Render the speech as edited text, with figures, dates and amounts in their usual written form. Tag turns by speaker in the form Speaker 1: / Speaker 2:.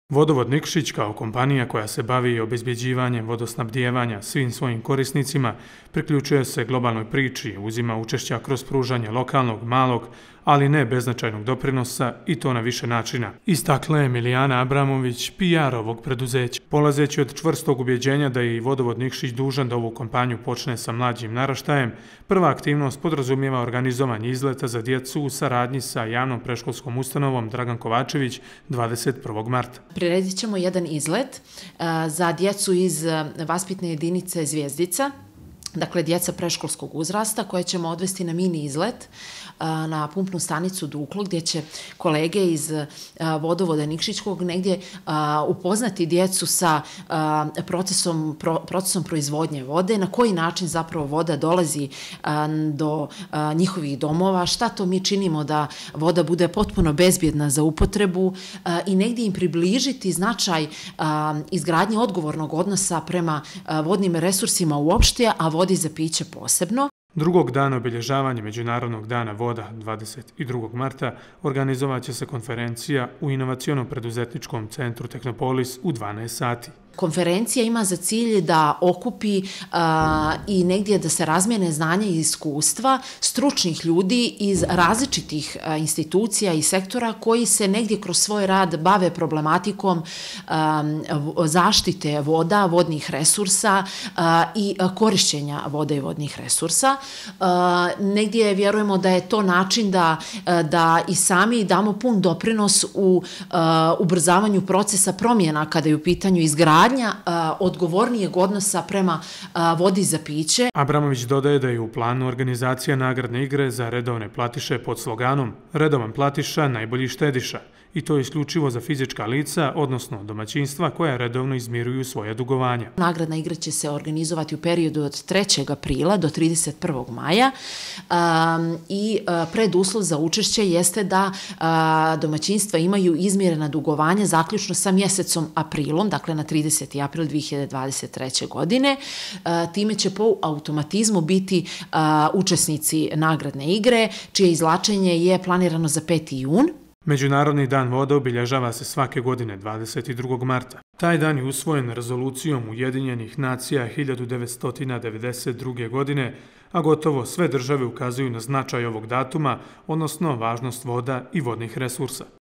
Speaker 1: Vodovod Nikšić kao kompanija koja se bavi obezbjeđivanjem vodosnabdijevanja svim svojim korisnicima priključuje se globalnoj priči, uzima učešća kroz pružanje lokalnog, malog, ali ne beznačajnog doprinosa i to na više načina. Istakla je Milijana Abramović, PR ovog preduzeća. Polazeći od čvrstog ubjeđenja da je i Vodovod Nikšić dužan da ovu kampanju počne sa mlađim naraštajem, prva aktivnost podrazumijeva organizovanje izleta za djecu u saradnji sa javnom predškolskom ustanovom Dragan Kovačević 21. marta.
Speaker 2: Priredit ćemo jedan izlet za djecu iz vaspitne jedinice Zvijezdica, dakle djeca predškolskog uzrasta koje ćemo odvesti na mini izlet na pumpnu stanicu Duklo gdje će kolege iz Vodovoda Nikšićkog negdje upoznati djecu sa procesom proizvodnje vode, na koji način zapravo voda dolazi do njihovih domova, šta to mi činimo da voda bude potpuno bezbjedna za upotrebu i negdje im približiti značaj izgradnje odgovornog odnosa prema vodnim resursima uopšte, a vodi za piće posebno.
Speaker 1: Drugog dana obilježavanja Međunarodnog dana voda 22. marta organizovat će se konferencija u inovacionom preduzetničkom centru Tehnopolis u 12 sati.
Speaker 2: Konferencija ima za cilj da okupi i negdje da se razmijene znanja i iskustva stručnih ljudi iz različitih institucija i sektora koji se negdje kroz svoj rad bave problematikom zaštite voda, vodnih resursa i korišćenja vode i vodnih resursa. Negdje vjerujemo da je to način da i sami damo pun doprinos u ubrzavanju procesa promjena kada je u pitanju izgradnja odgovornijeg odnosa prema vodi za piće.
Speaker 1: Abramović dodaje da je u planu organizacija nagradne igre za redovne platiše pod sloganom "Redovan platiša, najbolji štediša", i to isključivo za fizička lica, odnosno domaćinstva koja redovno izmiruju svoje dugovanja.
Speaker 2: Nagradna igra će se organizovati u periodu od 3. aprila do 31. maja i preduslov za učešće jeste da domaćinstva imaju izmirena dugovanja zaključno sa mjesecom aprilom, dakle na 30. april 2023. godine. Time će po automatizmu biti učesnici nagradne igre, čije izvlačenje je planirano za 5. jun.
Speaker 1: Međunarodni dan vode obilježava se svake godine 22. marta. Taj dan je usvojen rezolucijom Ujedinjenih nacija 1992. godine, a gotovo sve države ukazuju na značaj ovog datuma, odnosno važnost voda i vodnih resursa.